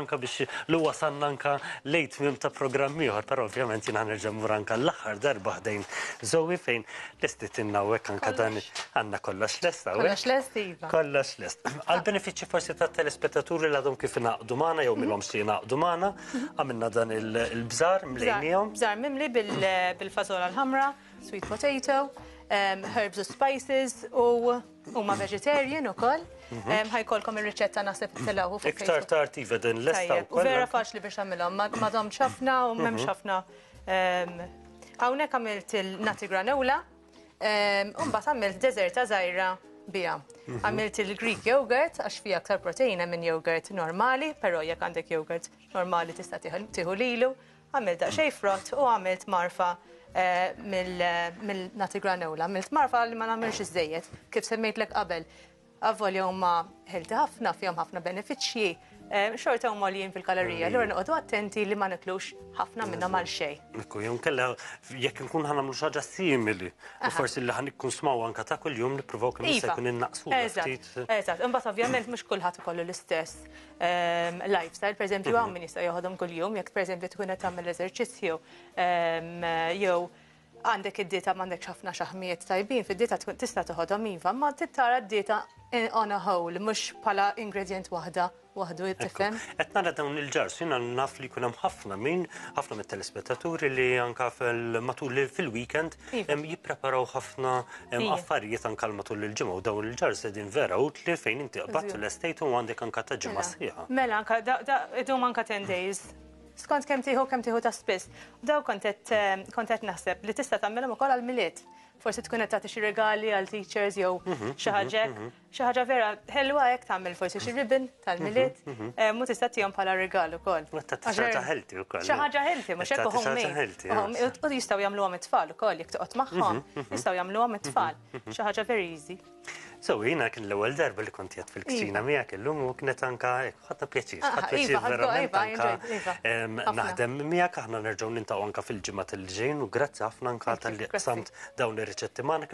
anka biex li wasalna anka lejn tmiem ta' programm ieħor, però ovvjament jiena nerġa' mmur anka l-aħħar darba ħdejn Zoe fejn lestitilna hawnhekk anka dan għandna kollox lest hawnhekk. Kollox lest iva. Kollox lest. Għal benefiċċju forsi tat-telespettaturi li għadhom kif ingħaqdu magħna jew milhomx li jingħaqdu magħna, għamilna dan il-bżar mlejniehom. Bżar mimli bil-fażola l-ħamra, sweet potato, herbs u spices u huma vegetarian ukoll. Mhm. Ħajkolkom ir-riċetta naħseb tilgħu fuq. Iktar tard iva din lesta wkoll. Vera faċli biex tagħmilhom, ma domx ħafna u m'hemmx mhm. ħafna. Hawnhekk għamilt il-nati granola, u mbagħad għamilt deżerta żgħira biha. Mhm. Għamilt il-Greek yogurt għax fija aktar proteina minn yogurt normali, però jekk għandek yogurt normali tista' tieħu lilu. Għamilt daqsxejn frott u għamilt marfa eh, mill-nati granola. Għamilt marfa li ma nagħmilx iżejjed, kif semmejtlek qabel. Avolja huma healthy ħafna, fihom ħafna benefiċċji, eh, xorta huma għoljin fil-kalorija, allura noqogħdu attenti li ma niklux ħafna minnhom għal xejn. Ekku, jew kella jekk nkun ħa nagħmlu xi ħaġa simili, u forsi li ħa nikkonsmaw anka ta' kuljum nippruvaw kemm jista' jkun innaqsu ftit. Eżatt, imbagħad ovvjament mhux kulħadd ikollu l-istess ehm, lifestyle, pereżempju hawn min jista' joħodhom kuljum, jekk pereżempju tkun qed tagħmel eżerċizzju ehm, jew għandek id-dieta m'għandekx ħafna xaħmijiet tajbin, fid-dieta tkun tista' toħodhom iva, ma trid tara d-dieta on a whole, mhux bħala ingredient waħda waħdu tifhem. Qed nara dawn il-jars, jiena naf li jkun hemm ħafna min, ħafna mit-telespettaturi li anka fil-matul fil-weekend iva. jippreparaw ħafna affarijiet anka matul il-ġimgħa u dawn il-jars qegħdin vera utli fejn inti qbadt l-estate u għandek anka ta' ġimgħa mela. sħiħa. Mela anka idum anka 10 days skont kemm tieħu ta' spiss. Daw kont qed naħseb li tista' tagħmilhom ukoll għall-Milied. Forsi tkun qed tagħti xi regali għal teachers jew xi ħaġa xi ħaġa vera ħelwa hekk tagħmel forsi xi ribbon tal-Milied mu tista' tihom bħala rigal ukoll. Xi ħaġa healthy ukoll. Xi ħaġa healthy, mhux hekk homemade. U jistgħu jagħmluhom it-tfal ukoll jekk toqgħod magħhom, jistgħu jagħmluhom it-tfal. Xi ħaġa very easy. So, jiena kien l-ewwel darba li kont qiegħed fil-kċina iva. miegħek illum u kienet anka ħadna pjaċir, ħadt ah, pjaċir iva, verament iva, anka naħdem miegħek aħna nerġgħu niltaqgħu anka fil-ġimgħa tal-ġejn u grazzi ħafna anka talli qsamt dawn ir-riċetti magħna.